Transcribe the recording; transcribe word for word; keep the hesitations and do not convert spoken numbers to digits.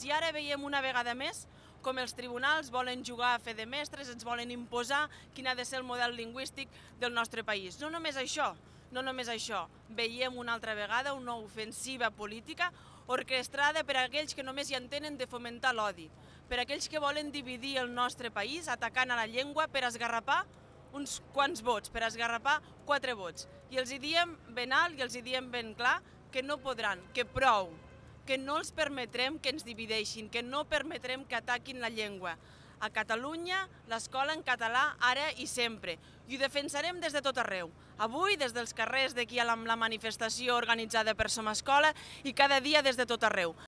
I ara veiem una vegada més com els tribunals volen jugar a fer de mestres, ens volen imposar quin ha de ser el model lingüístic del nostre país. No només això, no només això. Veiem una altra vegada una ofensiva política orquestrada per aquells que només hi entenen de fomentar l'odi, per aquells que volen dividir el nostre país atacant a la llengua per esgarrapar uns quants vots, per esgarrapar quatre vots. I els hi diem ben alt i els hi diem ben clar que no podran, que prou, que no els permetrem que ens divideixin, que no permetrem que ataquin la llengua. A Catalunya, l'escola en català ara i sempre. I ho defensarem des de tot arreu. Avui, des dels carrers d'aquí a la manifestació organitzada per Som Escola i cada dia des de tot arreu.